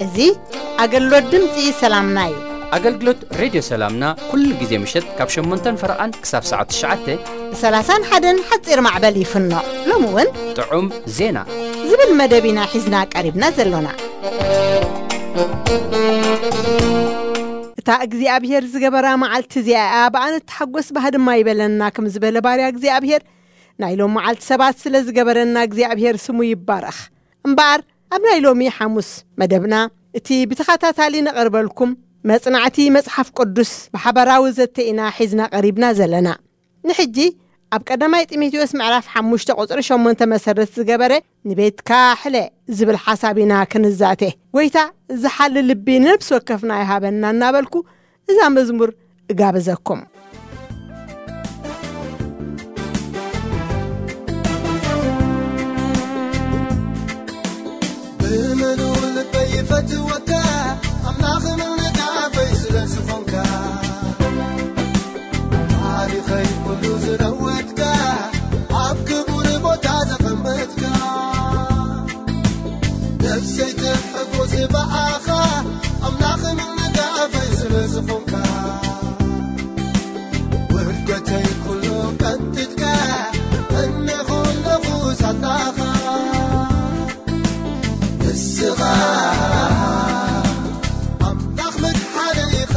እዚ ኣገልግሎት ድምፂ ሰላምና እዩ። ኣገልግሎት ሬድዮ ሰላምና ኩሉ ግዜ ምሸት ካብ ሸሞንተን ፈረቓን ክሳብ ሰዓት ትሽዓተ ብ ሰላሳን ሓደን ሓፂር ማዕበል ይፍኖ። ሎሚ እውን ጥዑም ዜና ዝብል መደብ ኢና ሒዝና ቀሪብና ዘሎና። እታ እግዚኣብሔር ዝገበራ መዓልቲ እዚኣ እያ፣ ብኣነ እትሓጎስ ባህ ድማ ይበለና፣ ከም ዝበለ ባርያ እግዚኣብሔር፣ ናይ ሎም መዓልቲ ሰባት ስለ ዝገበረና እግዚኣብሔር ስሙ ይባረኽ። እምበኣር ኣብ ናይ ሎሚ ሓሙስ መደብና እቲ ብተኸታታሊ ነቐርበልኩም መጽናዕቲ መጽሓፍ ቅዱስ ብሓበራዊ ዘተ ኢና ሒዝና ቀሪብና ዘለና። ንሕጂ ኣብ ቀዳማይ ጢሞቴዎስ ምዕራፍ ሓሙሽተ ቁጽሪ ሸሞንተ መሰረት ዝገበረ ንቤትካ ሕለ ዝብል ሓሳብ ኢና ክንዛተ። ጎይታ ዝሓሊ ልቢ ንነብሲ ወከፍና ይሃበና እናበልኩ እዛ መዝሙር እጋብዘኩም። ብምሉእ ልበይ ይፈትወካ፣ ኣምላኽን ደጋፈይ ስለ ዝኾንካ። ታሪኸይ ኩሉ ዝለወጥካ፣ ኣብ ክቡር ቦታ ዘቐመጥካ። ነፍሰይ ትሕጎስ ብኣኻ፣ ኣምላኽን ደጋፈይ ስለ ዝኾንካ። ውርደተይ ኩሉ ቀንጢጥካ፣ እነኹ ኣለኹ ሳላኻ። ንስኻ ኣምላኽ መድሓኒ ኢኻ።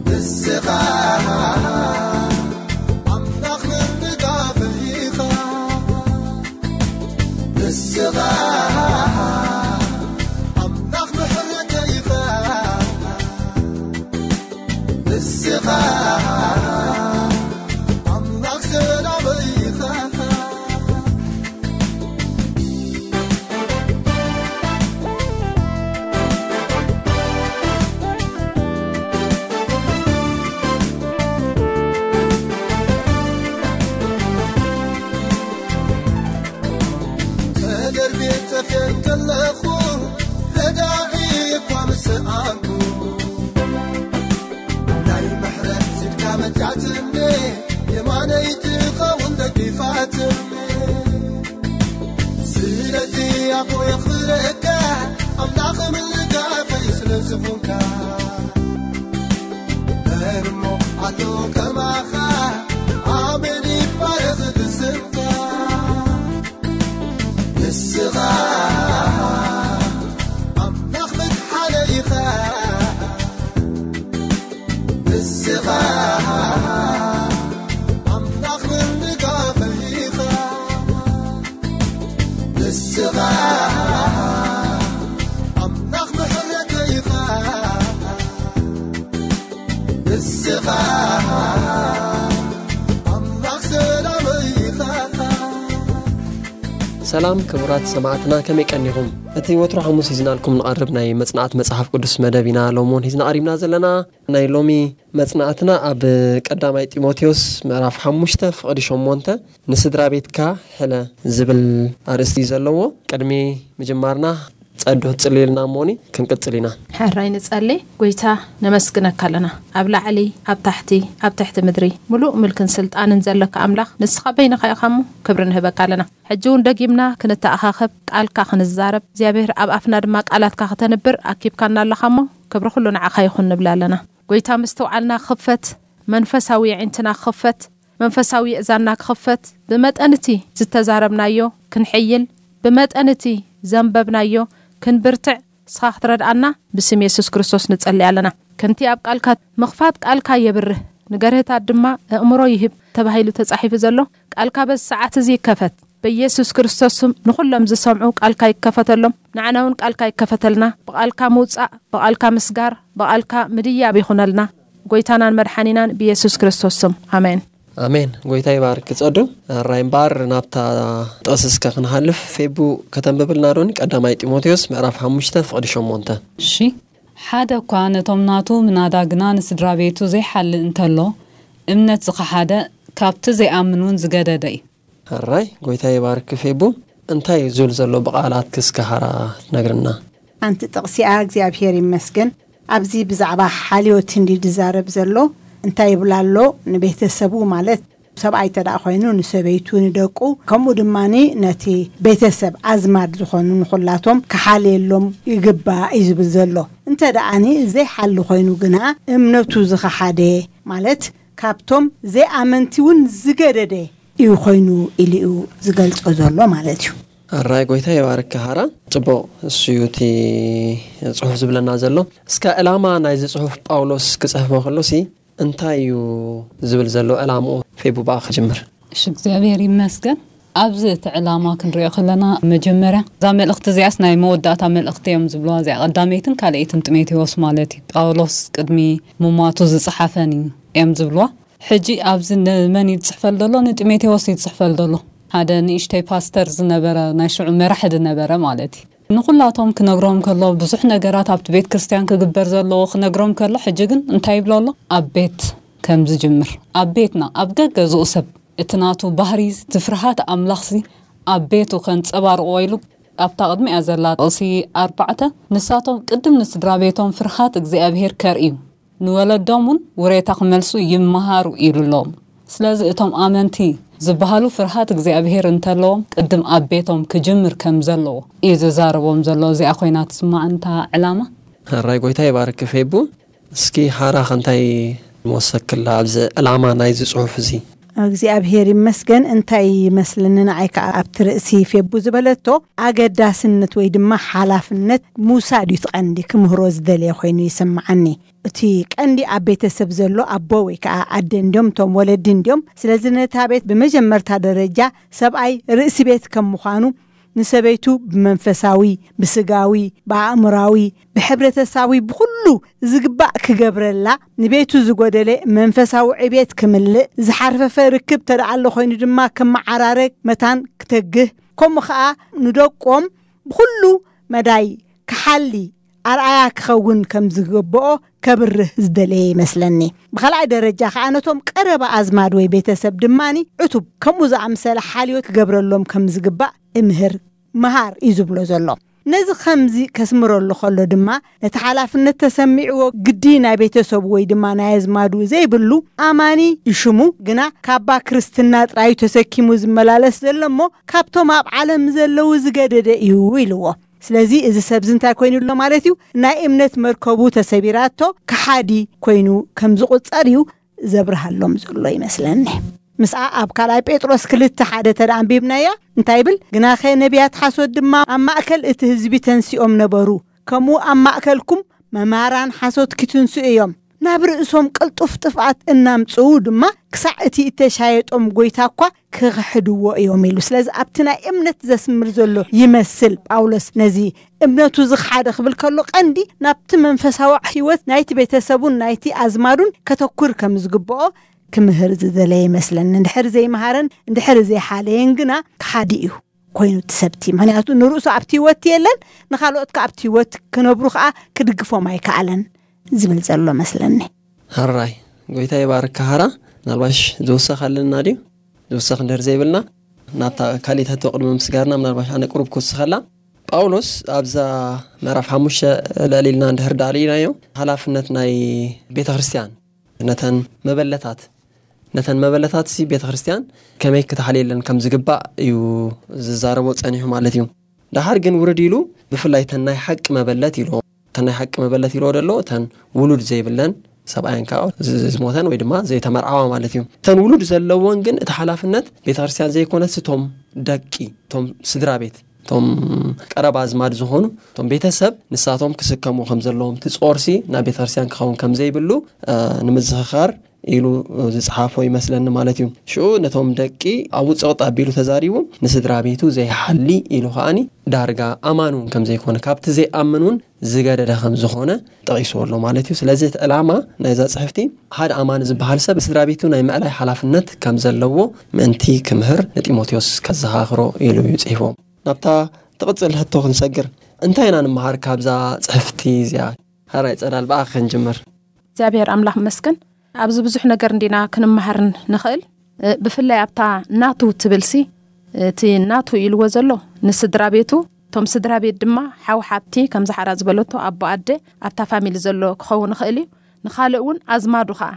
ንስኻ ኣምላኽ ምድጋፍ ኢኻ። ንስኻ ኣምላኽ ምሕረት ኢኻ። ንስኻ ኣምላኽ ሰላም ኢኻ። ተደርቤ ጠፍኤ እንከለኹ፣ ረዳኢ እኳ ምስ ሰኣንኩ፣ ናይ ምሕረት ኢድካ መጺኣትኒ፣ የማነይ ትኸውን ደጊፋትኒ። ስለዚ ኣቦ የኽብረካ፣ ኣምላኽ ምልጋፈይ ስለ ዝኾንካ። መን እሞ ኣሎ ከማኻ፣ ኣሜን ይባረኽ ስምካ። ንስኻ ኣምላኽ መድሓኒ ኢኻ። ንስኻ ኣምላኽ ምድጋፈይ ኢኻ። ንስኻ ኣምላኽ ምሕረተይ ኢኻ። ንስኻ ኣምላኽ ሰላመይ ኢኻ። ሰላም ክቡራት ሰማዕትና፣ ከመይ ቀኒኹም? እቲ ወትሩ ሓሙስ ሒዝናልኩም ንቐርብ ናይ መጽናዕቲ መጽሓፍ ቅዱስ መደብ ኢና ሎሚ እውን ሒዝና ቀሪብና ዘለና። ናይ ሎሚ መጽናዕትና ኣብ ቀዳማይ ጢሞቴዎስ ምዕራፍ ሓሙሽተ ፍቕዲ ሸሞንተ፣ ንስድራ ቤትካ ሕለ ዝብል ኣርእስቲ እዩ ዘለዎ። ቅድሚ ምጅማርና ጸድሑ ትጽልዩልና እሞኒ ክንቅጽል ኢና። ሕራይ ንጸሊ። ጎይታ ነመስግነካ ኣለና። ኣብ ላዕሊ፣ ኣብ ታሕቲ፣ ኣብ ትሕቲ ምድሪ፣ ምሉእ ምልክን ስልጣንን ዘለካ ኣምላኽ፣ ንስኻ በይንኻ ኢኻ እሞ ክብሪ ንህበካ ኣለና። ሕጂ እውን ደጊምና ክንተኣኻኸብ፣ ቃልካ ክንዛረብ፣ እግዚኣብሔር ኣብ ኣፍና ድማ ቃላትካ ከተንብር ኣኪብካና ኣለኻ እሞ፣ ክብሪ ኩሉ ንዓኻ ይኹን ንብል ኣለና። ጎይታ ምስትውዓልና ክኽፈት፣ መንፈሳዊ የዒንትና ክኽፈት፣ መንፈሳዊ የእዛንና ክኽፈት፣ ብመጠን እቲ ዝተዛረብናዮ ክንሕይል፣ ብመጠን እቲ ዘንበብናዮ ክንብርትዕ፣ ንስኻ ክትረድኣና ብስም የሱስ ክርስቶስ ንጸሊ ኣለና። ከምቲ ኣብ ቃልካ ምኽፋት ቃልካ የብርህ፣ ንገርህታት ድማ ኣእምሮ ይህብ ተባሂሉ ተጻሒፉ ዘሎ፣ ቃልካ በዚ ሰዓት እዚ ይከፈት። በኢየሱስ ክርስቶስ ስም ንኹሎም ዝሰምዑ ቃልካ ይከፈተሎም፣ ንዓና እውን ቃልካ ይከፈተልና። ብቃልካ ምውጻእ፣ ብቃልካ ምስጋር፣ ብቃልካ ምድያብ ይኹነልና። ጎይታናን መድሓኒናን ብኢየሱስ ክርስቶስ ስም፣ ኣሜን። ኣሜን። ጎይታ ይባርክ ጸዱ። ራይ እምበኣር ናብታ ጥቕሲ እስከ ክንሃልፍ፣ ፌቡ ከተንብብልና ዶኒ? ቀዳማይ ጢሞቴዎስ ምዕራፍ ሓሙሽተ ፍቕዲ ሸሞንተ። እሺ። ሓደ እኳ ነቶም ናቱ ምናዳ ግና ንስድራ ቤቱ ዘይሓልእ እንተሎ፣ እምነት ዝኸሓደ ካብቲ ዘይኣምን እውን ዝገደደ እዩ። ሕራይ ጎይታ ይባርክ ፌቡ። እንታይ እዩ ዝብል ዘሎ ብቓላት ክስከሃራ ትነግርና? ኣንቲ ጥቕሲኣ እግዚኣብሔር ይመስገን። ኣብዚ ብዛዕባ ሓልዮት እንዲ ዝዛረብ ዘሎ እንታይ ይብል ኣሎ? ንቤተሰቡ ማለት ሰብኣይ ተደኣ ኮይኑ ንሰበይቱ ንደቁ ከምኡ ድማ ነቲ ቤተሰብ ኣዝማድ ዝኾኑ ንኹላቶም ክሓልየሎም ይግባእ እዩ ዝብል ዘሎ። እንተ ደኣኒ ዘይሓሊ ኮይኑ ግና እምነቱ ዝኸሓደ ማለት ካብቶም ዘይኣመንቲ እውን ዝገደደ እዩ ኮይኑ ኢሉ እዩ ዝገልጾ ዘሎ ማለት እዩ። ኣራይ ጎይታ ይባርክ ሃራ። ጽቡቕ፣ እሱ እዩ እቲ ጽሑፍ ዝብለና ዘሎ። እስከ ዕላማ ናይዚ ጽሑፍ ጳውሎስ ክጽሕፎ ከሎ ሲ እንታይ እዩ ዝብል ዘሎ ዕላምኡ? ፌቡ ብኣ ክጅምር። እሺ እግዚኣብሔር ይመስገን። ኣብዚ እቲ ዕላማ ክንሪኦ ከለና መጀመርያ እዛ መልእኽቲ እዚኣስ ናይ መወዳእታ መልእኽቲ እዮም ዝብልዋ፣ እዚኣ ቀዳመይትን ካልኣይትን ጢሞቴዎስ ማለት እዩ። ጳውሎስ ቅድሚ ምሟቱ ዝጸሓፈን እዩ እዮም ዝብልዋ። ሕጂ ኣብዚ ንመን እዩ ዝጽሕፈል ዘሎ? ንጢሞቴዎስ እዩ ዝጽሕፈል ዘሎ። ሓደ ንእሽተይ ፓስተር ዝነበረ፣ ናይ ሽዑ መራሒ ዝነበረ ማለት እዩ። ንኹላቶም ክነግሮም ከሎ ብዙሕ ነገራት ኣብቲ ቤት ክርስቲያን ክግበር ዘለዎ ክነግሮም ከሎ፣ ሕጂ ግን እንታይ ይብሎ ኣሎ? ኣብ ቤት ከም ዝጅምር፣ ኣብ ቤትና ኣብ ገገዝኡ ሰብ እቲ ናቱ ባህሪ፣ እቲ ፍርሃት ኣምላኽሲ ኣብ ቤቱ ከንጸባርቆ ኢሉ ኣብታ ቅድሚኣ ዘላ ጥቕሲ ኣርባዕተ፣ ንሳቶም ቅድም ንስድራ ቤቶም ፍርሃት እግዚኣብሔር ከርእዩ ንወለዶም እውን ውሬታ ክመልሱ ይመሃሩ ኢሉ ኣለዎም። ስለዚ እቶም ኣመንቲ ዝበሃሉ ፍርሃት እግዚኣብሔር እንተለዎም ቅድም ኣብ ቤቶም ክጅምር ከም ዘለዎ እዩ ዝዛረቦም ዘሎ። እዚኣ ኮይና ትስማዕንታ ዕላማ። ሕራይ ጎይታ ይባርክ ፌቡ። እስኪ ሓራ ከንታይ መወሰክላ ኣብዚ ዕላማ ናይዚ ጽሑፍ እዚ? እግዚኣብሔር ይመስገን። እንታይ ይመስልኒ ንዓይ ከዓ ኣብቲ ርእሲ ፌቡ ዝበለቶ ኣገዳስነት ወይ ድማ ሓላፍነት ምውሳድ እዩ እቲ ቀንዲ ክምህሮ ዝደለየ ኮይኑ ይስምዓኒ። እቲ ቀንዲ ኣብ ቤተሰብ ዘሎ ኣቦ ወይ ከዓ ኣደ እንዲዮም፣ እቶም ወለዲ እንዲዮም። ስለዚ ነታ ቤት ብመጀመርታ ደረጃ ሰብኣይ ርእሲ ቤት ከም ምዃኑ ንሰበይቱ ብመንፈሳዊ፣ ብስጋዊ፣ ብኣእምራዊ፣ ብሕብረተሳዊ ብኩሉ ዝግባእ ክገብረላ፣ ንቤቱ ዝጎደለ መንፈሳዊ ዕቤት ክምልእ፣ ዝሓርፈፈ ርክብ ተደኣሎ ኮይኑ ድማ ክመዓራረግ መታን ክተግህ፣ ከምኡ ኸኣ ንደቆም ብኩሉ መዳይ ክሓሊ ኣርኣያ ክኸውን ከም ዝግብኦ ከብርህ ዝደለየ ይመስለኒ። ብኻልኣይ ደረጃ ከኣ ነቶም ቀረባ ኣዝማድ ወይ ቤተሰብ ድማኒ ዕቱብ ከምኡ ዝኣምሰለ ሓልዮት ክገብረሎም ከም ዝግባእ እምህር ምሃር እዩ ዝብሎ ዘሎ። ነዚ ከምዚ ከስምረሉ ከሎ ድማ ነቲ ሓላፍነት ተሰሚዕዎ ግዲ ናይ ቤተሰቡ ወይ ድማ ናይ ኣዝማዱ ዘይብሉ ኣማኒ ይሽሙ ግና ካባ ክርስትና ጥራዩ ተሰኪሙ ዝመላለስ ዘሎ እሞ ካብቶም ኣብ ዓለም ዘለዉ ዝገደደ እዩ ኢልዎ። ስለዚ እዚ ሰብዚ እንታይ ኮይኑ ኣሎ ማለት እዩ? ናይ እምነት መርከቡ ተሰቢራቶ ከሓዲ ኮይኑ ከም ዝቑጸር እዩ ዘብርሃሎም ዘሎ ይመስለኒ። ምስኣ ኣብ ካልኣይ ጴጥሮስ ክልተ ሓደ ተደኣ ኣንቢብናያ እንታይ ይብል? ግናኸ ነቢያት ሓሶት ድማ ኣብ ማእከል እቲ ህዝቢ ተንሲኦም ነበሩ፣ ከምኡ ኣብ ማእከልኩም መማራን ሓሶት ክትንስኡ እዮም፣ ናብ ርእሶም ቅልጡፍ ጥፍኣት እናምጽኡ ድማ ክሳዕ እቲ እተሻየጦም ጎይታ እኳ ክኽሕድዎ እዮም ኢሉ። ስለዚ ኣብቲ ናይ እምነት ዘስምር ዘሎ ይመስል ጳውሎስ ነዚ እምነቱ ዝኽሓደ ክብል ከሎ ቀንዲ ናብቲ መንፈሳዊ ህይወት ናይቲ ቤተሰቡን ናይቲ ኣዝማዱን ከተኩር ከም ዝግብኦ ክምህር ዝደለየ ይመስለኒ። እንድሕር ዘይምሃረን እንድሕር ዘይሓለየን ግና ክሓዲ እዩ ኮይኑ እቲ ሰብቲ። ምክንያቱ ንርእሱ ኣብቲ ህይወት የለን፣ ንኻልኦት ከኣ ኣብቲ ህይወት ክነብሩ ከኣ ክድግፎም ኣይከኣለን ዝብል ዘሎ መስለኒ። ሕራይ ጎይታ ይባርክ ሃራ። ምናልባሽ ዝውሰኽ ኣለና ድዩ? ዝውሰኽ እንድሕር ዘይብልና ናብታ ካሊእ ሕቶ ቅድሚ ምስጋርና ምናልባሽ ኣነ ቅሩብ ክውስኸላ። ጳውሎስ ኣብዛ ምዕራፍ ሓሙሽተ ልዕል ኢልና እንድሕር ዳኣ ርኢናዮ፣ ሓላፍነት ናይ ቤተ ክርስቲያን ነተን መበለታት ነተን መበለታት ሲ ቤተ ክርስቲያን ከመይ ክተሓልየለን ከም ዝግባእ እዩ ዝዛረቦ ጸኒሑ ማለት እዩ። ደሓር ግን ውርድ ኢሉ ብፍላይ ተን ናይ ሓቂ መበለት ኢልዎ፣ ተን ናይ ሓቂ መበለት ኢልዎ ደሎ ተን ውሉድ ዘይብለን ሰብኣየን ከዓ ዝ- ዝሞተን ወይ ድማ ዘይተመርዓዋ ማለት እዩ። ተን ውሉድ ዘለዎን ግን እቲ ሓላፍነት ቤተ ክርስቲያን ዘይኮነስ እቶም ደቂ እቶም ስድራ ቤት እቶም ቀረባ ኣዝማድ ዝኾኑ እቶም ቤተሰብ ንሳቶም ክስከሙ ከም ዘለዎም እቲ ጾርሲ ናብ ቤተ ክርስቲያን ክኸውን ከም ዘይብሉ እ፣ ንምዝኽኻር ኢሉ ዝጽሓፎ ይመስለኒ ማለት እዩ። ሽኡ ነቶም ደቂ ኣብ ውጽቕጥ ኣቢሉ ተዛሪቡ ንስድራ ቤቱ ዘይሓሊ ኢሉ ከኣኒ ዳርጋ ኣማን እውን ከም ዘይኮነ ካብቲ ዘይኣምን እውን ዝገደደ ከም ዝኾነ ጠቒስዎ ኣሎ ማለት እዩ። ስለዚ እቲ ዕላማ ናይዛ ጽሕፍቲ ሓደ ኣማኒ ዝበሃል ሰብ ስድራ ቤቱ ናይ ምዕላይ ሓላፍነት ከም ዘለዎ ምእንቲ ክምህር ንጢሞቴዎስ ከዘኻኽሮ ኢሉ እዩ ጽሒፎ። ናብታ ትቕጽል ሕቶ ክንሰግር እንታይ ኢና ንምሃር ካብዛ ጽሕፍቲ እዚኣ? ሓራይ ጸዳል ብኣኺ ክንጅምር። እግዚኣብሔር ኣምላኽ መስገን ኣብዚ ብዙሕ ነገር እንዲና ክንመሃርን ንኽእል። ብፍላይ ኣብታ ናቱ ትብልሲ እቲ ናቱ ኢልዎ ዘሎ ንስድራ ቤቱ፣ እቶም ስድራ ቤት ድማ ሓው ሓብቲ፣ ከምዚ ሓራ ዝበለቶ ኣቦ ኣደ ኣብታ ፋሚሊ ዘሎ ክኸውን ይኽእል እዩ። ንኻልእ እውን ኣዝማዱ ከዓ፣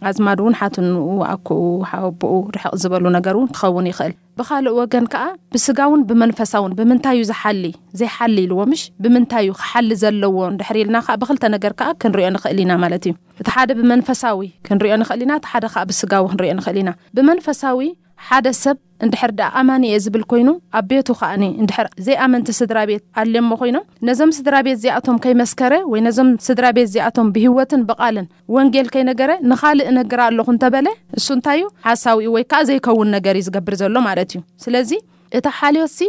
ኣዝማዱ እውን ሓትንኡ፣ ኣኩኡ፣ ሓወቦኡ፣ ርሕቕ ዝበሉ ነገር እውን ክኸውን ይኽእል። ብኻልእ ወገን ከዓ ብስጋውን ብመንፈሳውን ብምንታይ እዩ ዝሓሊ፣ ዘይሓሊ ኢልዎ ምሽ፣ ብምንታይ እዩ ክሓሊ ዘለዎ እንድሕር ኢልና ከዓ ብክልተ ነገር ከዓ ክንሪኦ ንኽእል ኢና ማለት እዩ። እቲ ሓደ ብመንፈሳዊ ክንሪኦ ንኽእል ኢና፣ እቲ ሓደ ከዓ ብስጋዊ ክንሪኦ ንኽእል ኢና። ብመንፈሳዊ ሓደ ሰብ እንድሕር ደኣ ኣማኒ እየ ዝብል ኮይኑ፣ ኣብ ቤቱ ከኣኒ እንድሕር ዘይኣመንቲ ስድራ ቤት ኣልየሞ ኮይኖም፣ ነዞም ስድራ ቤት እዚኣቶም ከይመስከረ ወይ ነዞም ስድራ ቤት እዚኣቶም ብህይወትን ብቓልን ወንጌል ከይነገረ ንኻልእ እነግር ኣለኹ እንተበለ፣ እሱ እንታይ እዩ? ሓሳዊ ወይ ከዓ ዘይከውን ነገር እዩ ዝገብር ዘሎ ማለት እዩ። ስለዚ እቲ ሓልዮትሲ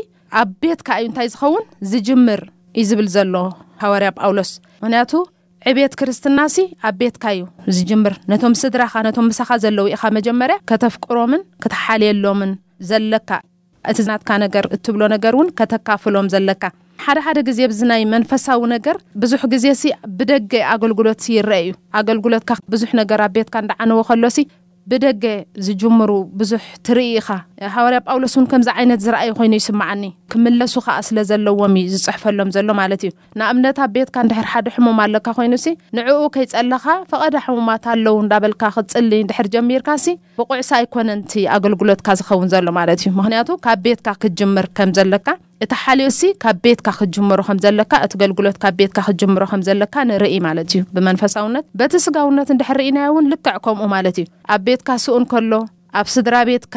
ኣብ ቤትካ እዩ እንታይ ዝኸውን? ዝጅምር እዩ ዝብል ዘሎ ሃዋርያ ጳውሎስ። ምኽንያቱ ዕቤት ክርስትናሲ ኣብ ቤትካ እዩ ዝጅምር። ነቶም ስድራኻ፣ ነቶም ምሳኻ ዘለዉ ኢኻ መጀመርያ ከተፍቅሮምን ክትሓልየሎምን ዘለካ። እቲ ናትካ ነገር እትብሎ ነገር እውን ከተካፍሎም ዘለካ። ሓደ ሓደ ግዜ ኣብዚ ናይ መንፈሳዊ ነገር ብዙሕ ግዜ ሲ ብደገ ኣገልግሎት ሲ ይረአ እዩ። ኣገልግሎትካ ብዙሕ ነገር ኣብ ቤትካ እንዳዓነወ ከሎ ሲ ብደገ ዝጅምሩ ብዙሕ ትርኢ ኢኻ። ሃዋርያ ጳውሎስ እውን ከምዚ ዓይነት ዝረኣዩ ኮይኑ ይስምዓኒ። ክምለሱ ኸኣ ስለ ዘለዎም እዩ ዝጽሕፈሎም ዘሎ ማለት እዩ። ንኣብነት ኣብ ቤትካ እንድሕር ሓደ ሕሙም ኣለካ ኮይኑ ሲ ንዕኡ ከይጸለኻ ፈቐዳ ሕሙማት ኣለዉ እንዳበልካ ክትጽሊ እንድሕር ጀሚርካ ሲ ብቑዕሲ ኣይኮነን እቲ ኣገልግሎትካ ዝኸውን ዘሎ ማለት እዩ። ምኽንያቱ ካብ ቤትካ ክትጅምር ከም ዘለካ፣ እቲ ሓልዮሲ ካብ ቤትካ ክትጅምሮ ከም ዘለካ፣ እቲ ገልግሎት ካብ ቤትካ ክትጅምሮ ከም ዘለካ ንርኢ ማለት እዩ። ብመንፈሳውነት፣ በቲ ስጋውነት እንድሕር ርኢናዮ እውን ልክዕ ከምኡ ማለት እዩ። ኣብ ቤትካ ስኡን ከሎ፣ ኣብ ስድራ ቤትካ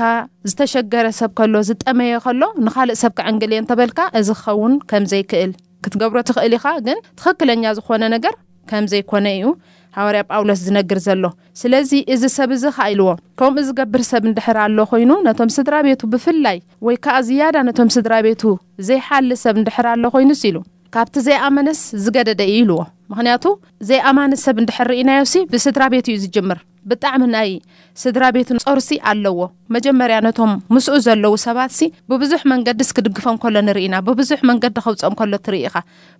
ዝተሸገረ ሰብ ከሎ፣ ዝጠመየ ከሎ፣ ንኻልእ ሰብ ከዕንግል እየ እንተበልካ፣ እዚ ክኸውን ከም ዘይክእል ክትገብሮ ትኽእል ኢኻ፣ ግን ትኽክለኛ ዝኾነ ነገር ከም ዘይኮነ እዩ ሃዋርያ ጳውሎስ ዝነግር ዘሎ። ስለዚ እዚ ሰብ እዚ ኸኣ ኢልዎ፣ ከምኡ ዝገብር ሰብ እንድሕር ኣሎ ኮይኑ፣ ነቶም ስድራ ቤቱ ብፍላይ፣ ወይ ከኣ ዝያዳ ነቶም ስድራ ቤቱ ዘይሓሊ ሰብ እንድሕር ኣሎ ኮይኑስ ኢሉ፣ ካብቲ ዘይኣመነስ ዝገደደ እዩ ኢልዎ። ምኽንያቱ ዘይኣማኒ ሰብ እንድሕር ርኢናዮሲ ብስድራ ቤቱ እዩ ዝጅምር። ብጣዕሚ ናይ ስድራ ቤቱ ጾርሲ ኣለዎ። መጀመርያ ነቶም ምስኡ ዘለዉ ሰባትሲ ብብዙሕ መንገድስ ክድግፎም ከሎ ንርኢ ኢና። ብብዙሕ መንገዲ ከውጽኦም ከሎ ትርኢ ኢኻ።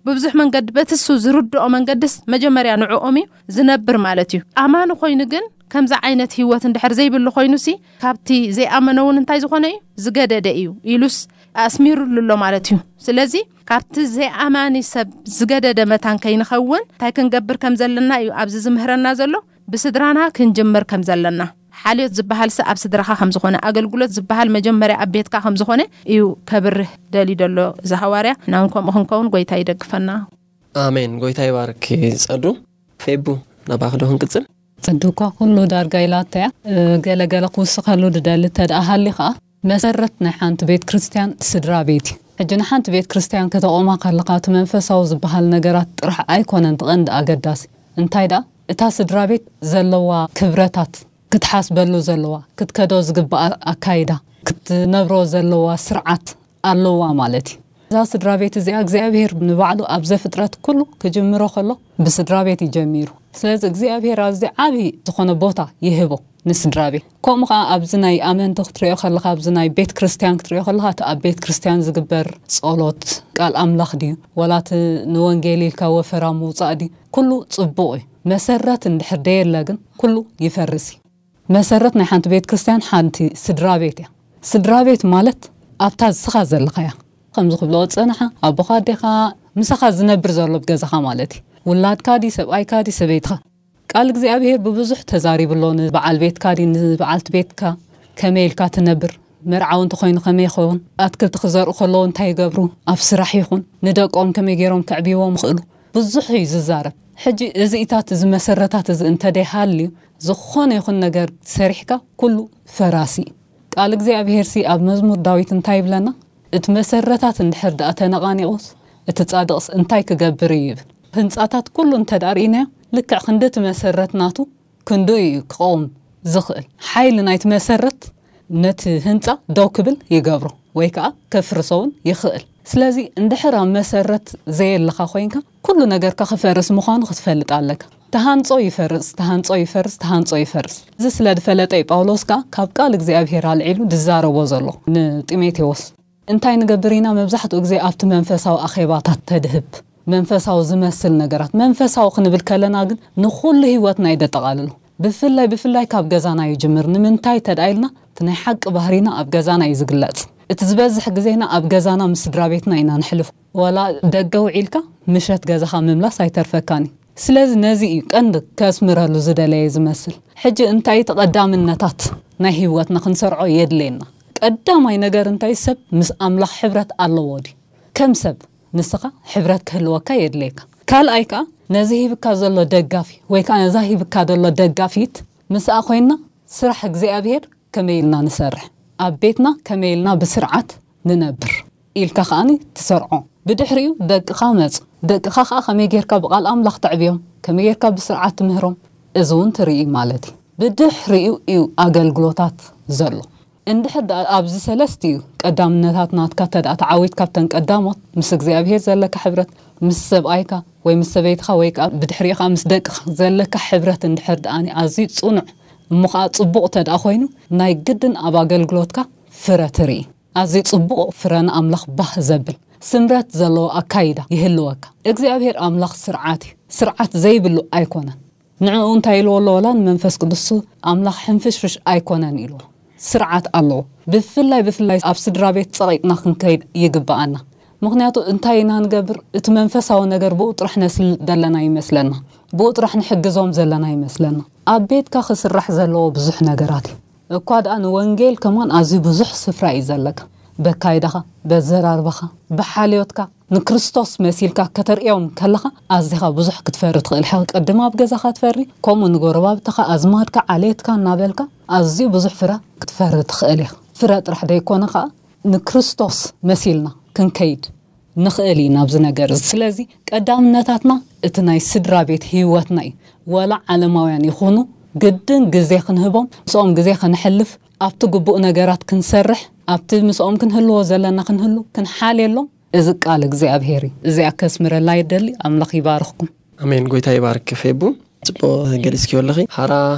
ብብዙሕ መንገዲ በቲ እሱ ዝርድኦ መንገድስ መጀመርያ ንዕኦም እዩ ዝነብር ማለት እዩ። ኣማኒ ኮይኑ ግን ከምዚ ዓይነት ህይወት እንድሕር ዘይብሉ ኮይኑሲ ካብቲ ዘይኣመነ እውን እንታይ ዝኾነ እዩ? ዝገደደ እዩ ኢሉስ ኣስሚሩሉ ኣሎ ማለት እዩ። ስለዚ ካብቲ ዘይኣማኒ ሰብ ዝገደደ መታን ከይንኸውን እንታይ ክንገብር ከም ዘለና እዩ ኣብዚ ዝምህረና ዘሎ። ብስድራና ክንጅምር ከም ዘለና፣ ሓልዮት ዝበሃልሲ ኣብ ስድራኻ ከም ዝኾነ፣ ኣገልግሎት ዝበሃል መጀመርያ ኣብ ቤትካ ከም ዝኾነ እዩ ከብርህ ደልዩ ዘሎ እዚ ሃዋርያ። ናውን ከምኡ ክንከውን ጎይታ ይደግፈና። ኣሜን። ጎይታ ይባርክ ጸዱ። ፌቡ፣ ናባኺ ዶ ክንቅጽል? ጸዱ እኳ ኩሉ ዳርጋ ኢላቶ እያ። እ፣ ገለ ገለ ክውስኸሉ ድደሊ እንተ ደኣ ሃልዩ ኸኣ፣ መሰረት ናይ ሓንቲ ቤት ክርስትያን ስድራ ቤት እዩ። ሕጂ ንሓንቲ ቤት ክርስትያን ከተቑማ ከለኻ፣ እቲ መንፈሳዊ ዝበሃል ነገራት ጥራሕ ኣይኮነን እቲ ቀንዲ ኣገዳሲ። እንታይ ደኣ፣ እታ ስድራ ቤት ዘለዋ ክብረታት ክትሓስበሉ ዘለዋ፣ ክትከዶ ዝግባኣ ኣካይዳ፣ ክትነብሮ ዘለዋ ስርዓት ኣለዋ ማለት እዩ። እዛ ስድራ ቤት እዚኣ እግዚኣብሔር ንባዕሉ ኣብ ዘፍጥረት ኩሉ ክጅምሮ ከሎ ብስድራ ቤት እዩ ጀሚሩ። ስለዚ እግዚኣብሔር ኣብዚ ዓቢ ዝኾነ ቦታ ይህቦ ንስድራ ቤት። ከምኡ ኸዓ ኣብዚ ናይ ኣመንቲ ክትሪኦ ከለኻ፣ ኣብዚ ናይ ቤት ክርስትያን ክትሪኦ ከለኻ፣ እቲ ኣብ ቤት ክርስትያን ዝግበር ጸሎት፣ ቃል ኣምላኽ ድዩ፣ ወላ እቲ ንወንጌል ኢልካ ወፈራ ምውጻእ ድዩ፣ ኩሉ ጽቡቕ እዩ። መሰረት እንድሕር ደየለ ግን ኩሉ ይፈርስ እዩ። መሰረት ናይ ሓንቲ ቤት ክርስትያን ሓንቲ ስድራ ቤት እያ። ስድራ ቤት ማለት ኣብታ ዝስኻ ዘለኻ እያ። ከምዚ ክብሎ ጽንሓ፣ ኣቦኻ፣ ኣዴኻ፣ ምሳኻ ዝነብር ዘሎ ኣብ ገዛኻ ማለት እዩ። ውላድካ ድዩ፣ ሰብኣይካ ድዩ፣ ሰበይትኻ። ቃል እግዚኣብሔር ብብዙሕ ተዛሪቡ ኣሎ። ንበዓል ቤትካ ድዩ፣ ንበዓልቲ ቤትካ ከመይ ኢልካ ትነብር፣ መርዓዊ እንተኾይኑ ከመይ ይኸውን፣ ኣትክልቲ ክዘርኡ ከለዉ እንታይ ይገብሩ፣ ኣብ ስራሕ ይኹን ንደቆም ከመይ ገይሮም ከዕብይዎም ይኽእሉ፣ ብዙሕ እዩ ዝዛረብ። ሕጂ እዚኢታት፣ እዚ መሰረታት እዚ እንተደይሃልዩ፣ ዝኾነ ይኹን ነገር ሰሪሕካ ኩሉ ፈራሲ እዩ። ቃል እግዚኣብሄርሲ ኣብ መዝሙር ዳዊት እንታይ ይብለና? እቲ መሰረታት እንድሕር ደኣ ተነቓኒቑስ፣ እቲ ጻድቕስ እንታይ ክገብር እዩ ይብል። ህንጻታት ኩሉ እንተ ደኣ ርኢናዮ፣ ልክዕ ክንዲ እቲ መሰረት ናቱ ክንድኡ እዩ ክቐውም ዝኽእል። ሓይሊ ናይቲ መሰረት ነቲ ህንጻ ደው ክብል ይገብሮ ወይ ከኣ ከፍርሶ እውን ይኽእል። ስለዚ እንድሕር ኣብ መሰረት ዘየለኻ ኮይንካ፣ ኩሉ ነገርካ ክፈርስ ምዃኑ ክትፈልጥ ኣለካ። ተሃንጾ ይፈርስ፣ ተሃንጾ ይፈርስ፣ ተሃንጾ ይፈርስ። እዚ ስለ ዝፈለጠ እዩ ጳውሎስ ከኣ ካብ ቃል እግዚኣብሄር ኣልዒሉ ዝዛረቦ ዘሎ ንጢሞቴዎስ። እንታይ ንገብር ኢና? መብዛሕትኡ ግዜ ኣብቲ መንፈሳዊ ኣኼባታት ተድህብ፣ መንፈሳዊ ዝመስል ነገራት። መንፈሳዊ ክንብል ከለና ግን ንኹሉ ህይወትና እዩ ደጠቓልሎ። ብፍላይ፣ ብፍላይ ካብ ገዛና ይጅምር። ንምንታይ ተድኣ ኢልና፣ እቲ ናይ ሓቂ ባህሪና ኣብ ገዛና እዩ ዝግለጽ። እቲ ዝበዝሕ ግዜና ኣብ ገዛና ምስ ስድራ ቤትና ኢና ንሕልፎ። ዋላ ደገ ውዒልካ ምሸት ገዛኻ ምምላስ ኣይተርፈካን እዩ። ስለዚ ነዚ እዩ ቀንዲ ከስምረሉ ዝደለየ ዝመስል። ሕጂ እንታይ ተቐዳምነታት ናይ ህይወትና ክንሰርዖ የድልየና? ቀዳማይ ነገር እንታይ ሰብ ምስ ኣምላኽ ሕብረት ኣለዎ ድዩ? ከም ሰብ ንስኻ ሕብረት ክህልወካ የድልየካ። ካልኣይ ከኣ ነዚ ሂብካ ዘሎ ደጋፊ ወይ ከኣ ነዛ ሂብካ ዘሎ ደጋፊት ምስኣ ኮይንና ስራሕ እግዚኣብሔር ከመይ ኢልና ንሰርሕ፣ ኣብ ቤትና ከመይ ኢልና ብስርዓት ንነብር ኢልካ ከኣኒ ትሰርዖ። ብድሕሪኡ ደቅኻ መጹ። ደቅኻ ከኣ ከመይ ጌርካ ብቓል ኣምላኽ ተዕብዮም፣ ከመይ ጌርካ ብስርዓት ትምህሮም፣ እዚ እውን ትርኢ ማለት እዩ። ብድሕሪኡ እዩ ኣገልግሎታት ዘሎ። እንድሕር ደኣ ኣብዚ ሰለስቲኡ ቀዳምነታት ናትካ ተደኣ ተዓዊት ካብተን ቀዳሞት ምስ እግዚኣብሔር ዘለካ ሕብረት፣ ምስ ሰብኣይካ ወይ ምስ ሰበይትኻ ወይ ከኣ ብድሕሪኡ ከኣ ምስ ደቅኻ ዘለካ ሕብረት እንድሕር ደኣኒ ኣዝዩ ጽኑዕ እሞ ከኣ ጽቡቕ ተደኣ ኮይኑ ናይ ግድን ኣብ ኣገልግሎትካ ፍረ ትርኢ። ኣዝዩ ጽቡቕ ፍረ ንኣምላኽ ባህ ዘብል ስምረት ዘለዎ ኣካይዳ ይህልወካ። እግዚኣብሔር ኣምላኽ ስርዓት እዩ። ስርዓት ዘይብሉ ኣይኮነን። ንዕኡ እንታይ ኢልዎ ኣሎ? ወላ ንመንፈስ ቅዱስ ኣምላኽ ሕንፍሽፍሽ ኣይኮነን ኢልዎ። ስርዓት ኣለዎ። ብፍላይ ብፍላይ ኣብ ስድራ ቤት ጸቒጥና ክንከይድ ይግብኣና። ምኽንያቱ እንታይ ኢና ንገብር? እቲ መንፈሳዊ ነገር ብኡ ጥራሕ ነስል ዘለና ይመስለና። ብኡ ጥራሕ ንሕግዞም ዘለና ይመስለና። ኣብ ቤትካ ክስራሕ ዘለዎ ብዙሕ ነገራት እዩ። እኳ ደኣ ንወንጌል ከማን ኣዝዩ ብዙሕ ስፍራ እዩ ዘለካ። በካይዳኻ፣ በዘራርባኻ፣ ብሓልዮትካ ንክርስቶስ መሲልካ ከተርእዮም ከለኻ ኣዚኻ ብዙሕ ክትፈሪ ትኽእል ኢኻ። ቅድም ኣብ ገዛኻ ትፈሪ፣ ከምኡ ንጎረባብትኻ፣ ኣዝማድካ፣ ዓሌትካ እናበልካ ኣዝዩ ብዙሕ ፍረ ክትፈሪ ትኽእል ኢኻ። ፍረ ጥራሕ ደይኮነ ኸኣ ንክርስቶስ መሲልና ክንከይድ ንኽእል ኢና ኣብዚ ነገር እዚ። ስለዚ ቀዳምነታትና እቲ ናይ ስድራ ቤት ህይወትና እዩ። ወላ ዓለማውያን ይኹኑ ግድን ግዜ ክንህቦም፣ ምስኦም ግዜ ከነሕልፍ፣ ኣብቲ ግቡእ ነገራት ክንሰርሕ፣ ኣብቲ ምስኦም ክንህልዎ ዘለና ክንህሉ ክንሓልየሎም፣ እዚ ቃል እግዚኣብሔር እዩ። እዚኣ ከስምረላ ይደሊ። ኣምላኽ ይባርኽኩም። ኣሜን። ጎይታ ይባርክ ፌቡ። ጽቡቕ ገሊጽክዮ ኣለኺ። ሓራ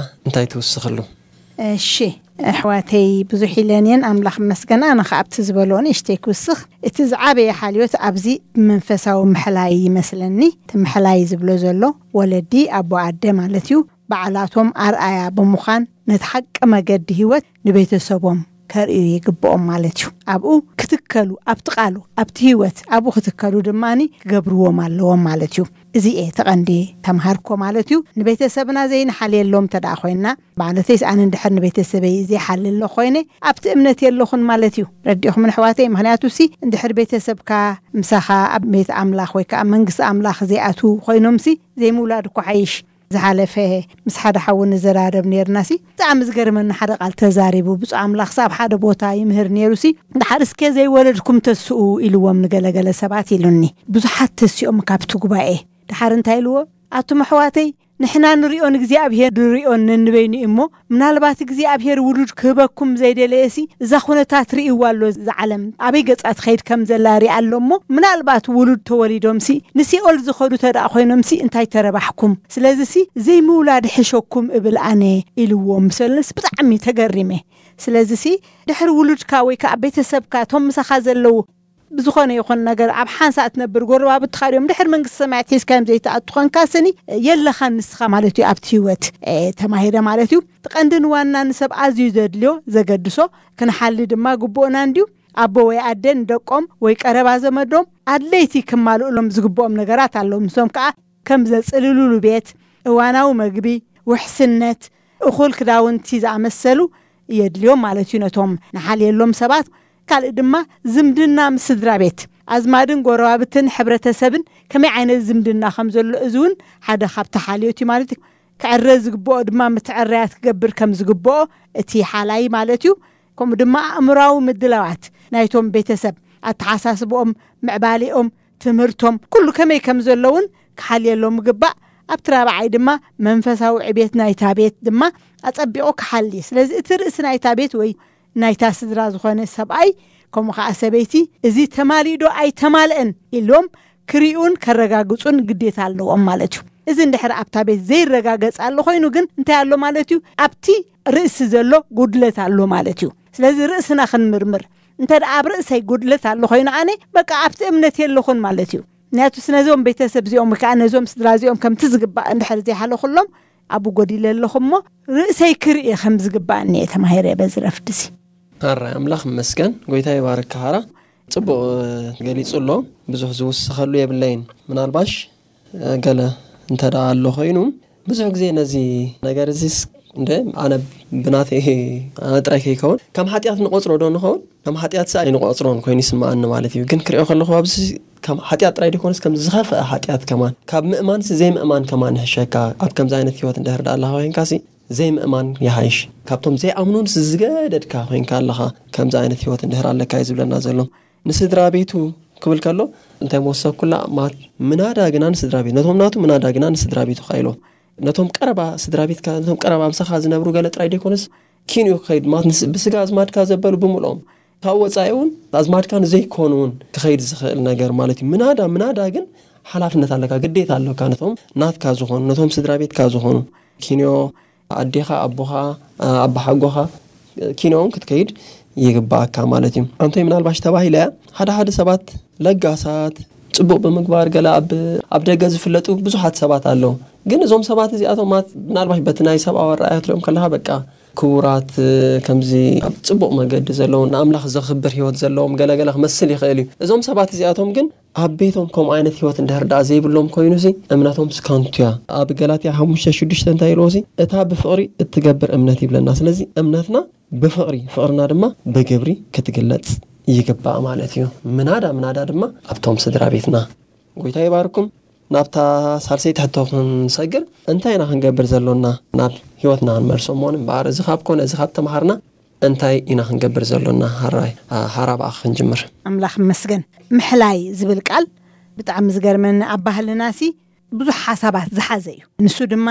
እንታይ ትውስኽሉ? እሺ፣ ኣሕዋተይ ብዙሕ ኢለን እየን፣ ኣምላኽ ይመስገን። ኣነ ኸኣ ኣብቲ ዝበልኦ ንእሽተይ ክውስኽ። እቲ ዝዓበየ ሓልዮት ኣብዚ ብመንፈሳዊ ምሕላይ ይመስለኒ። እቲ ምሕላይ ዝብሎ ዘሎ ወለዲ፣ ኣቦ ኣደ ማለት እዩ። ባዕላቶም ኣርኣያ ብምዃን ነቲ ሓቂ መገዲ ህይወት ንቤተሰቦም ከርእዩ ይግብኦም ማለት እዩ። ኣብኡ ክትከሉ፣ ኣብቲ ቃሉ፣ ኣብቲ ህይወት ኣብኡ ክትከሉ ድማኒ ክገብርዎም ኣለዎም ማለት እዩ። እዚ እየ እቲ ቀንዲ ተምሃርኮ ማለት እዩ። ንቤተሰብና ዘይንሓልየሎም እንተ ደኣ ኮይንና፣ ማለተይስ ኣነ እንድሕር ንቤተሰበይ ዘይሓሊ ኣሎ ኮይነ፣ ኣብቲ እምነት የለኹን ማለት እዩ። ረዲእኹም ኣሕዋተይ፣ ምኽንያቱ ሲ እንድሕር ቤተሰብካ ምሳኻ ኣብ ቤት ኣምላኽ ወይ ከኣ መንግስቲ ኣምላኽ ዘይኣትዉ ኮይኖምሲ ዘይምውላድ እኮ ሓይሽ። ዝሓለፈ ምስ ሓደ ሓው ንዘራረብ ነይርናሲ፣ ብጣዕሚ ዝገርመኒ ሓደ ቃል ተዛሪቡ። ብፁዕ ኣምላኽሲ ኣብ ሓደ ቦታ ይምህር ነይሩሲ፣ "ደሓር እስከ ዘይወለድኩም ተስኡ" ኢልዎም ንገለገለ ሰባት ኢሉኒ። ብዙሓት ተሲኦም ካብቲ ጉባኤ። ደሓር እንታይ ኢልዎ? "ኣቱም ኣሕዋተይ፣ ንሕና ንሪኦ ንእግዚኣብሔር ንሪኦ ነንበይኑ እዩ እሞ፣ ምናልባት እግዚኣብሔር ውሉድ ክህበኩም ዘይደለየሲ፣ እዛ ኩነታት ርእይዋ ኣሎ፣ እዛ ዓለም ኣበይ ገጻ ትኸይድ ከም ዘላ ሪኣ ኣሎ እሞ፣ ምናልባት ውሉድ ተወሊዶምሲ ንሲኦል ዝኸዱ ተደኣ ኮይኖምሲ እንታይ ተረባሕኩም? ስለዚሲ ዘይምውላድ ሕሸኩም እብል ኣነ" ኢልዎም። ሰለስ ብጣዕሚ ተገሪመ። ስለዚሲ ድሕሪ ውሉድካ ወይ ከኣ ቤተሰብካ፣ እቶም ምሳኻ ዘለዉ ብዝኾነ ይኹን ነገር ኣብ ሓንሳእ ትነብር ጎረባብትኻ ድዮም ድሕሪ መንግስቲ ሰማያት ሒዝካዮም ዘይትኣቱ ኾንካ ስኒ የለኻን ንስኻ ማለት እዩ ኣብቲ ህይወት፣ እ፣ ተማሂረ ማለት እዩ። እቲ ቀንድን ዋናን ንሰብ ኣዝዩ ዘድልዮ ዘገድሶ ክንሓሊ ድማ ግቡእና እንድዩ። ኣቦ ወይ ኣደ ንደቆም ወይ ቀረባ ዘመዶም ኣድለይቲ ክማልኡሎም ዝግብኦም ነገራት ኣለዉ። ምስኦም ከኣ ከም ዘጽልሉሉ ቤት፣ እዋናዊ መግቢ፣ ውሕስነት፣ እኹል ክዳውንቲ ዝኣመሰሉ የድልዮም ማለት እዩ ነቶም ንሓልየሎም ሰባት። ካልእ ድማ ዝምድና ምስ ስድራ ቤት፣ ኣዝማድን ጎረባብትን ሕብረተሰብን ከመይ ዓይነት ዝምድና ከም ዘሎ፣ እዚ እውን ሓደ ካብቲ ሓልዮት እዩ ማለት እዩ። ክዕረ ዝግብኦ ድማ ምትዕርያት ክገብር ከም ዝግብኦ እቲ ሓላይ ማለት እዩ። ከምኡ ድማ ኣእምራዊ ምድላዋት ናይቶም ቤተሰብ፣ ኣተሓሳስብኦም፣ ምዕባሌኦም፣ ትምህርቶም፣ ኩሉ ከመይ ከም ዘለውን ክሓልየሎም ምግባእ። ኣብቲ ራብዓይ ድማ መንፈሳዊ ዕቤት ናይታ ቤት ድማ ኣጸቢቑ ክሓሊ። ስለዚ እቲ ርእሲ ናይታ ቤት ወይ ናይታ ስድራ ዝኾነ ሰብኣይ ከምኡ ኸዓ ሰበይቲ እዚ ተማሊኡ ዶ ኣይተማልአን ኢሎም ክሪኡን ከረጋግጹን ግዴታ ኣለዎም ማለት እዩ። እዚ እንድሕር ኣብታ ቤት ዘይረጋገጽ ኣሎ ኮይኑ ግን እንታይ ኣሎ ማለት እዩ? ኣብቲ ርእሲ ዘሎ ጉድለት ኣሎ ማለት እዩ። ስለዚ ርእስና ክንምርምር። እንተ ደኣ ኣብ ርእሰይ ጉድለት ኣሎ ኮይኑ ኣነ በቃ ኣብቲ እምነት የለኹን ማለት እዩ። ምክንያቱስ ነዞም ቤተሰብ እዚኦም ወይ ከዓ ነዞም ስድራ እዚኦም ከምቲ ዝግባእ እንድሕር ዘይሓለኹሎም ኣብኡ ጎዲለ ኣለኹ እሞ ርእሰይ ክርኢ ከም ዝግባእኒ እየ ተማሂረ በዚ ረፍድሲ። ኣራይ ኣምላኽ ይመስገን፣ ጎይታ ይባርክ። ሃራ ጽቡቕ ገሊጹ ኣሎ። ብዙሕ ዝውስኸሉ የብለይን። ምናልባሽ ገለ እንተ ደኣ ኣሎ ኮይኑ፣ ብዙሕ ግዜ ነዚ ነገር እዚስ እንደ ኣነ ብናተይ ኣነ ጥራይ ከይከውን ከም ሓጢኣት ንቆጽሮ ዶ ንኸውን? ከም ሓጢኣት ኣይንቆጽሮን ኮይኑ ይስምዓኒ ማለት እዩ። ግን ክሪኦ ከለኹ ኣብዚ ከም ሓጢኣት ጥራይ ደይኮነስ ከም ዝኸፍአ ሓጢኣት ከማን ካብ ምእማንሲ ዘይምእማን ከማን ይሕሸካ። ኣብ ከምዚ ዓይነት ህይወት እንድሕር ደኣ ኣለኻ ኮይንካሲ ዘይምእማን ይሓይሽ። ካብቶም ዘይኣምኑን ዝገደድካ ኮይንካ ኣለኻ። ከምዚ ዓይነት ህይወት እንድሕር ኣለካ እዩ ዝብለና ዘሎ። ንስድራ ቤቱ ክብል ከሎ እንታይ መወሰኩላ ማት ምናዳ ግና ንስድራ ቤት ነቶም ናቱ ምናዳ ግና ንስድራ ቤቱ ካ ኢሎም ነቶም ቀረባ ስድራ ቤትካ ነቶም ቀረባ ምሳኻ ዝነብሩ ገለ ጥራይ ደይኮነስ ኪንኡ ክኸይድ ማለት ብስጋ ኣዝማድካ ዘበሉ ብምልኦም ካብ ወፃኢ እውን ኣዝማድካ ንዘይኮኑ እውን ክኸይድ ዝኽእል ነገር ማለት እዩ። ምናዳ ምናዳ ግን ሓላፍነት ኣለካ፣ ግዴታ ኣለካ። ነቶም ናትካ ዝኾኑ ነቶም ስድራ ቤትካ ዝኾኑ ኪንዮ ኣዴኻ ኣቦኻ ኣባሓጎኻ ኪንዮ እውን ክትከይድ ይግባኣካ ማለት እዩ። ኣንቶይ ምናልባሽ ተባሂለ ሓደ ሓደ ሰባት ለጋሳት ጽቡቕ ብምግባር ገለ ኣብ ኣብ ደገ ዝፍለጡ ብዙሓት ሰባት ኣለዉ። ግን እዞም ሰባት እዚኣቶም ማት ምናልባሽ በቲ ናይ ሰብኣዊ ኣረኣያ ትሪኦም ከለኻ በቃ ክቡራት ከምዚ ኣብ ጽቡቕ መገዲ ዘለዉ ንኣምላኽ ዘኽብር ህይወት ዘለዎም ገለገለ ክመስል ይኽእል እዩ። እዞም ሰባት እዚኣቶም ግን ኣብ ቤቶም ከምኡ ዓይነት ህይወት እንድሕር ደኣ ዘይብሎም ኮይኑሲ እምነቶም ስከንቱ እያ። ኣብ ገላትያ ሓሙሽተ ሽዱሽተ እንታይ ኢልዎ ሲ እታ ብፍቕሪ እትገብር እምነት ይብለና። ስለዚ እምነትና ብፍቕሪ ፍቕርና ድማ ብግብሪ ክትግለጽ ይግባእ ማለት እዩ። ምናዳ ምናዳ ድማ ኣብቶም ስድራ ቤትና። ጎይታ ይባርኩም። ናብታ ሳልሰይቲ ሕቶ ክንሰግር እንታይ ኢና ክንገብር ዘሎና ናብ ህይወትና ክንመልሶ እሞ እምበኣር እዚ ካብ ኮነ እዚ ካብ ተምሃርና እንታይ ኢና ክንገብር ዘሎና? ሃራይ ሃራ ብኣኻ ክንጅምር። ኣምላኽ መስገን። ምሕላይ ዝብል ቃል ብጣዕሚ ዝገርመኒ ኣብ ባህልና ሲ ብዙሕ ሓሳባት ዝሓዘ እዩ። ንሱ ድማ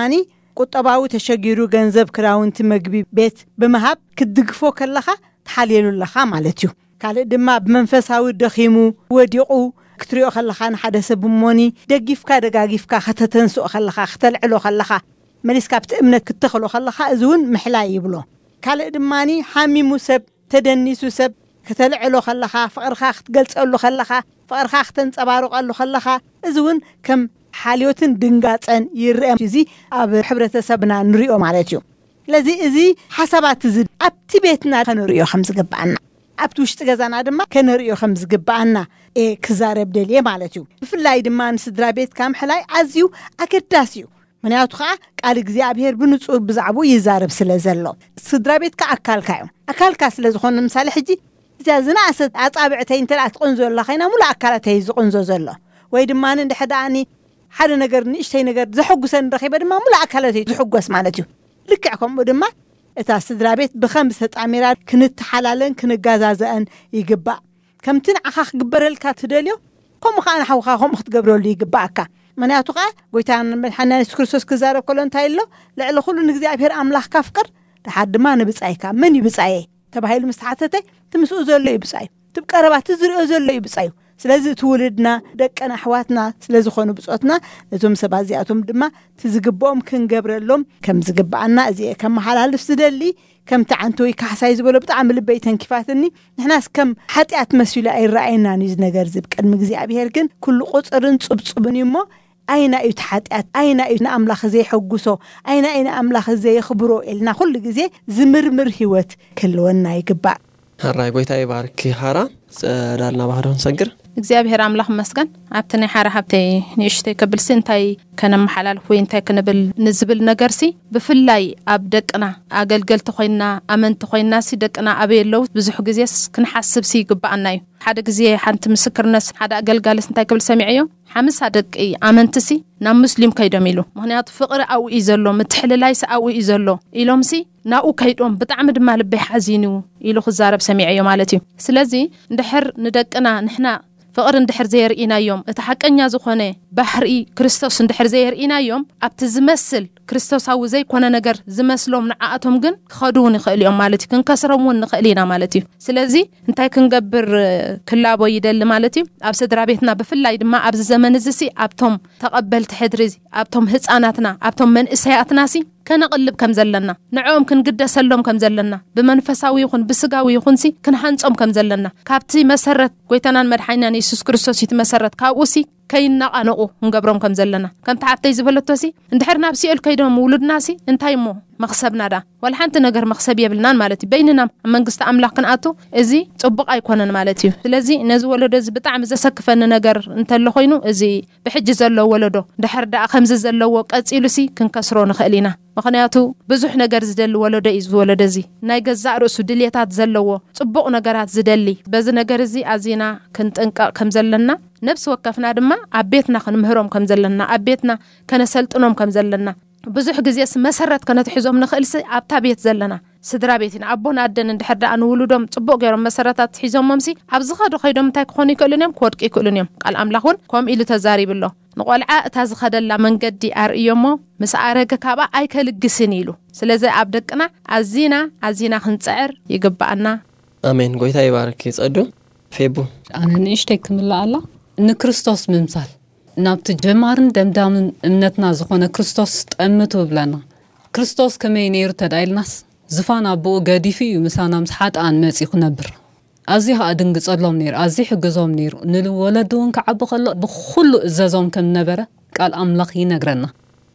ቁጠባዊ ተሸጊሩ ገንዘብ ክዳውንቲ መግቢ ቤት ብምሃብ ክትድግፎ ከለኻ ትሓልየሉ ኣለኻ ማለት እዩ። ካልእ ድማ ብመንፈሳዊ ደኺሙ ወዲቑ ክትሪኦ ከለኻ ንሓደ ሰብ እሞኒ ደጊፍካ ደጋጊፍካ ከተተንስኦ ከለኻ ክተልዕሎ ከለኻ መሊስካ ኣብቲ እምነት ክትተኽሎ ከለኻ እዚ እውን ምሕላይ ይብሎ። ካልእ ድማ ሓሚሙ ሰብ ተደኒሱ ሰብ ከተልዕሎ ከለኻ ፍቕርኻ ክትገልጸሉ ከለኻ ፍቕርኻ ክተንጸባርቐሉ ከለኻ እዚ እውን ከም ሓልዮትን ድንጋጸን ይርአ። እዚ ኣብ ሕብረተሰብና ንሪኦ ማለት እዩ። ስለዚ እዚ ሓሳባት እዚ ኣብቲ ቤትና ከነርእዮ ከም ዝግብኣና ኣብቲ ውሽጢ ገዛና ድማ ከነርእዮ ከም ዝግብኣና እየ ክዛረብ ደልየ ማለት እዩ። ብፍላይ ድማ ንስድራ ቤትካ ምሕላይ ኣዝዩ ኣገዳሲ እዩ። ምክንያቱ ከዓ ቃል እግዚኣብሄር ብንጹር ብዛዕባኡ ይዛረብ ስለ ዘሎ ስድራ ቤትካ ኣካልካ እዮም። ኣካልካ ስለ ዝኾኑ ንምሳሌ ሕጂ እዚኣ ዝነኣሰት ኣጻብዕተይ እንተ ትቕንዞ ኣላ ኮይና ሙሉእ ኣካላተይ ዝቕንዞ ዘሎ ወይ ድማ እንድሕር ደኣኒ ሓደ ነገር ንእሽተይ ነገር ዘሐጉሰን ረኺበ ድማ ሙሉእ ኣካላተይ ዝሕጎስ ማለት እዩ። ልክዕ ከምኡ ድማ እታ ስድራ ቤት ብኸም ዝተጣሚራ ክንተሓላለን ክንጋዛዘአን ይግባእ። ከምቲ ንዓኻ ክግበረልካ ትደልዮ ከምኡ ከዓ ንሓውካ ከምኡ ክትገብረሉ ይግባኣካ። ምክንያቱ ከዓ ጎይታን መድሓና የሱስ ክርስቶስ ክዛረብ ከሎ እንታይ ኣሎ? ልዕሊ ኩሉ ንእግዚኣብሔር ኣምላኽካ ፍቅር ድሓር ድማ ንብጻይካ። መን እዩ ብጻየይ ተባሂሉ ምስ ተሓተተ እቲ ምስኡ ዘሎ እዩ ብጻዩ። እቲ ብቀረባ እቲ ዝሪኦ ዘሎ እዩ ብጻዩ። ስለዚ እቲ ውልድና ደቅና ኣሕዋትና ስለ ዝኾኑ ብጾትና ነዞም ሰባት እዚኣቶም ድማ እቲ ዝግብኦም ክንገብረሎም ከም ዝግብኣና እዚ እየ ከመሓላልፍ ዝደሊ። ከምቲ ዓንተወይ ካሕሳይ ዝበሎ ብጣዕሚ ልበይ ተንኪፋትኒ። ንሕናስ ከም ሓጢኣት መሲሉ ኣይረኣየናን እዩ እዚ ነገር እዚ ብቅድሚ እግዚኣብሄር ግን ኩሉ ቁፅርን ፅብፅብን እዩ እሞ ኣይና እዩ እቲ ሓጢኣት ኣይና እዩ ንኣምላኽ ዘየሐጉሶ ኣይና እዩ ንኣምላኽ ዘየኽብሮ ኢልና ኩሉ ግዜ ዝምርምር ህይወት ክህልወና ይግባእ። ሕራይ ጎይታ ይባርኪ። ሃራ ጸዳልና ባህዶ ክንሰግር እግዚኣብሔር ኣምላኽ መስገን። ኣብቲ ናይ ሓራ ሃብተይ ንእሽተይ ከብልሲ እንታይ ከነመሓላልፍ ወይ እንታይ ክንብል ንዝብል ነገርሲ ብፍላይ ኣብ ደቅና ኣገልገልቲ ኮይና ኣመንቲ ኮይናሲ ደቅና ኣበይ ኣለዉ ብዙሕ ግዜስ ክንሓስብሲ ይግብኣና እዩ። ሓደ ግዜ ሓንቲ ምስክርነት ሓደ ኣገልጋልስ እንታይ ክብል ሰሚዐዮ ሓምሳ ደቂ ኣመንትሲ ናብ ሙስሊም ከይዶም ኢሉ ምክንያቱ ፍቕሪ ኣብኡ እዩ ዘሎ ምትሕልላይሲ ኣብኡ እዩ ዘሎ ኢሎምሲ ናብኡ ከይዶም ብጣዕሚ ድማ ልበይ ሓዚኑ ኢሉ ክዛረብ ሰሚዐዮ ማለት እዩ። ስለዚ እንድሕር ንደቅና ንሕና ፍቕሪ እንድሕር ዘየርኢናዮም እቲ ሓቀኛ ዝኾነ ባህሪ ክርስቶስ እንድሕር ዘየርኢናዮም ኣብቲ ዝመስል ክርስቶሳዊ ዘይኮነ ነገር ዝመስሎም ንዓኣቶም ግን ክኸዱ እውን ይኽእል እዮም ማለት እዩ። ክንከስሮም እውን ንኽእል ኢና ማለት እዩ። ስለዚ እንታይ ክንገብር ክላቦ ይደሊ ማለት እዩ። ኣብ ስድራ ቤትና ብፍላይ ድማ ኣብዚ ዘመን እዚ ሲ ኣብቶም ተቐበልቲ ሕድሪ ኣብቶም ህፃናትና ኣብቶም መንእሰያትና ሲ ከነቕልብ ከም ዘለና ንዕኦም ክንግደሰሎም ከም ዘለና ብመንፈሳዊ ይኹን ብስጋዊ ይኹን ሲ ክንሃንፆም ከም ዘለና ካብቲ መሰረት ጎይታናን መድሓኒናን የሱስ ክርስቶስ እዩ እቲ መሰረት ካብኡ ሲ ከይናቓነቑ ክንገብሮም ከም ዘለና። ከምቲ ሓፍተይ ዝበለቶሲ፣ እንድሕር ናብ ሲኦል ከይዶም ውሉድናሲ፣ እንታይ እሞ መኽሰብና ዳ? ዋላ ሓንቲ ነገር መኽሰብ የብልናን ማለት እዩ። በይንና ኣብ መንግስቲ ኣምላኽ ክንኣቱ፣ እዚ ጽቡቕ ኣይኮነን ማለት እዩ። ስለዚ ነዚ ወለዶ እዚ ብጣዕሚ ዘሰክፈኒ ነገር እንተሎ ኮይኑ፣ እዚ ብሕጂ ዘሎ ወለዶ፣ ድሕር ደኣ ከምዚ ዘለዎ ቀጺሉሲ፣ ክንከስሮ ንኽእል ኢና። ምኽንያቱ ብዙሕ ነገር ዝደሊ ወለዶ እዩ፣ እዚ ወለዶ እዚ። ናይ ገዛእ ርእሱ ድልየታት ዘለዎ፣ ጽቡቕ ነገራት ዝደሊ። በዚ ነገር እዚ ኣዚና ክንጥንቀቕ ከም ዘለና፣ ነብሲ ወከፍና ድማ ኣብ ቤትና ክንምህሮም ከም ዘለና፣ ኣብ ቤትና ከነሰልጥኖም ከም ዘለና፣ ብዙሕ ግዜስ መሰረት ከነትሕዞም ንኽእልሲ ኣብታ ቤት ዘለና ስድራ ቤት ኢና። ኣቦን ኣደን እንድሕር ደኣ ንውሉዶም ጽቡቕ ገይሮም መሰረታት ሒዞሞምሲ፣ ኣብ ዝኸዱ ከይዶም እንታይ ክኾኑ ይክእሉን እዮም? ክወድቁ ይክእሉን እዮም። ቃል ኣምላኽ እውን ከምኡ ኢሉ ተዛሪቡ ኣሎ። ንቖልዓ እታ ዝኸደላ መንገዲ ኣርእዮሞ፣ ምስ ኣረገ ካብኣ ኣይከልግስን ኢሉ። ስለዚ ኣብ ደቅና ኣዚና ኣዚና ክንጽዕር ይግብኣና። ኣሜን። ጎይታ ይባርክ ጸዱ። ፌቡ። ኣነ ንእሽተይ ክምልኣላ፣ ንክርስቶስ ምምሳል፣ ናብቲ ጀማርን ደምዳምን እምነትና ዝኾነ ክርስቶስ ጠምቱ ብለና። ክርስቶስ ከመይ ነይሩ ተዳኢልናስ፣ ዝፋን ኣቦኡ ገዲፉ እዩ ምሳና ምስ ሓጥኣን መጺኡ ክነብር። ኣዝዩ ኸኣ ድንግጸሎም ነይሩ፣ ኣዝዩ ይሕግዞም ነይሩ። ንወለዱ እውን ክዓቢ ከሎ ብኹሉ እዘዞም ከም ነበረ ቃል ኣምላኽ ይነግረና።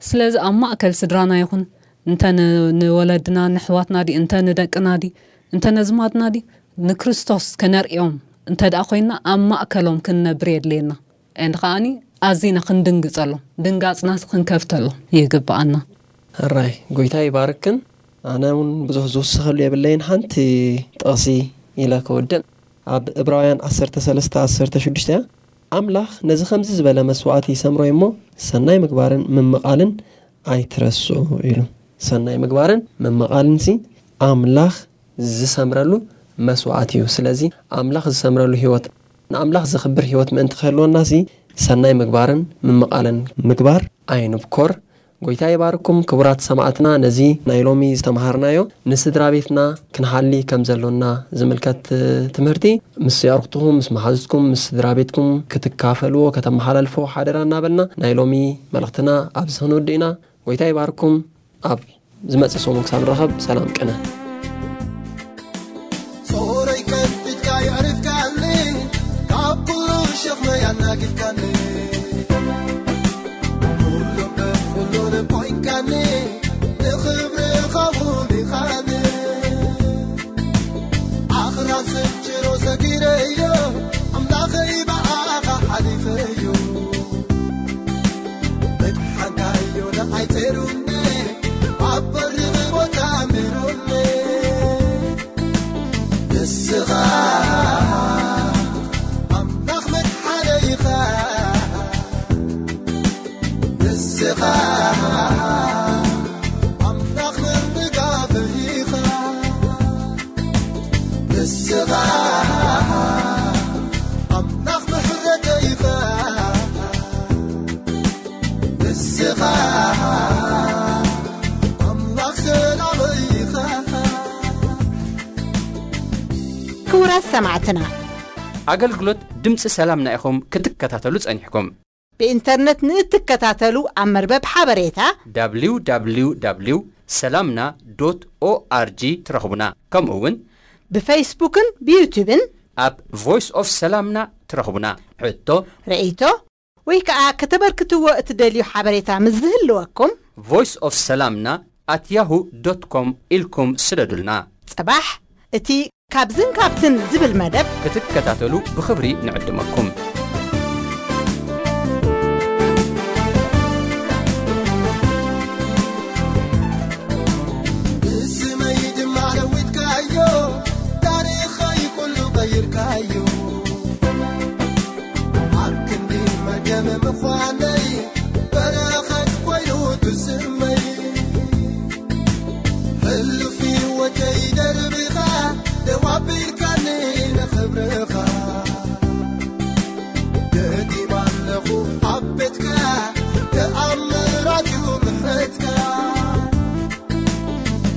ስለዚ ኣብ ማእከል ስድራና ይኹን፣ እንተ ን-፣ ንወለድና፣ ንሕዋትና ድዩ፣ እንተ ንደቅና ድዩ፣ እንተ ነዝማድና ድዩ፣ ንክርስቶስ ከነርእዮም እንተ ደኣ ኮይንና፣ ኣብ ማእከሎም ክንነብር የድልየና። And ከኣኒ ኣዚና ክንድንግጸሎም፣ ድንጋጽናስ ክንከፍተሎም ይግብኣና። ሕራይ፣ ጎይታ ይባርክን። ኣነ እውን ብዙሕ ዝውስኸሉ የብለይን። ሓንቲ ጥቕሲ ኢለ ክውድእ። ኣብ ዕብራውያን ዓሰርተ ሰለስተ ዓሰርተ ሽዱሽተ እያ። ኣምላኽ ነዚ ከምዚ ዝበለ መስዋዕቲ ይሰምሮ እሞ፣ ሰናይ ምግባርን ምምቓልን ኣይትረስዑ ኢሉ። ሰናይ ምግባርን ምምቓልን ሲ ኣምላኽ ዝሰምረሉ መስዋዕቲ እዩ። ስለዚ ኣምላኽ ዝሰምረሉ ህይወት፣ ንኣምላኽ ዘኽብር ህይወት ምእንቲ ክህልወና ሲ ሰናይ ምግባርን ምምቓልን ምግባር ኣይንብኮር። ጎይታ ይባርኩም ክቡራት ሰማዕትና። ነዚ ናይ ሎሚ ዝተምሃርናዮ ንስድራ ቤትና ክንሃሊ ከም ዘሎና ዝምልከት ትምህርቲ ምስ የዕሩኽትኹም፣ ምስ መሓዙትኩም፣ ምስ ስድራ ቤትኩም ክትካፈልዎ፣ ከተመሓላልፎ ሓደራ እናበልና ናይ ሎሚ መልእኽትና ኣብዚ ክንውድእ ኢና። ጎይታ ይባርኩም። ኣብ ዝመጽእ ሰሙን ክሳብ ንራኸብ ሰላም ቅነ። ጾረይ ከቢድካ የዕሪፍካኒ፣ ካብ ኩሉ ሸኽመይ ኣናጊፍካኒ። ኩሉን ብኩሉን ኮይንካኒ፣ ንኽብርኻ ውዲኻኒ። ኣኽራን ስንጭሮ ሰጊረዮ፣ ኣምላኸይ ብኣኻ ሓሊፈዮ። መድሓንካዮ ንዓይ ጸይሩኒ፣ ኣብ በሪኽ ቦታ ኣንቢሩኒ። ንስኻ ኣምላኽ መድሓነይ ኢኻ። ንስኻ ኣምላኽ ምድጋፈይ ኢኻ። ንስኻ ኣምላኽ ምሕረተይ ኢኻ። ንስኻ ኣምላኽ ሰላመይ ኢኻ። ክቡራት ሰማዕትና፣ ኣገልግሎት ድምፂ ሰላምና ኢኹም ክትከታተሉ ጸኒሕኩም። ብኢንተርነት ንእትከታተሉ ኣብ መርበብ ሓበሬታ www ሰላምና ዶት ኦኣርጂ ትረኽቡና። ከምኡ እውን ብፈይስቡክን ብዩቱብን ኣብ ቮይስ ኦፍ ሰላምና ትረኽቡና። ሕቶ፣ ርእይቶ ወይ ከዓ ከተበርክትዎ እትደልዩ ሓበሬታ ምስ ዝህልወኩም ቮይስ ኦፍ ሰላምና ኣት ያሁ ዶት ኮም ኢልኩም ስደዱልና። ጽባሕ እቲ ካብዝን ካብትን ዝብል መደብ ክትከታተሉ ብኽብሪ ንዕድመኩም። ንስመይ ድማ ለዊጥካዮ፣ ታሪኸይ ኩሉ ቀይርካዮ። ኣብ ክንዲ መርገም ምዃነይ፣ በረኸት ኮይኑ ትስመይ። ሕሉፍ ህይወተይ ደርቢኻ፣ ደው ኣቢልካኒ ንኽብርኻ። ደጊም ኣለኹ ኣብ ቤትካ፣ ተኣምራት እዩ ምሕረትካ።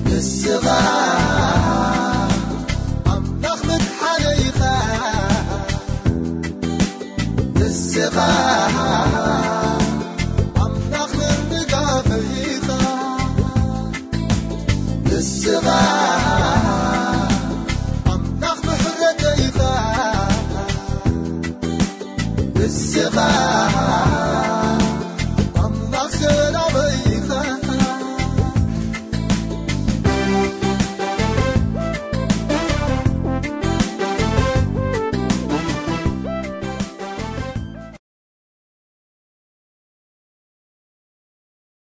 ንስኻ ኣምላኽ መድሓነይ ኢኻ። ንስኻ ኣምላኽ ምድጋፈይ ኢኻ። ንስኻ ኣምላኽ ምሕረተይ ኢኻ። ስኻ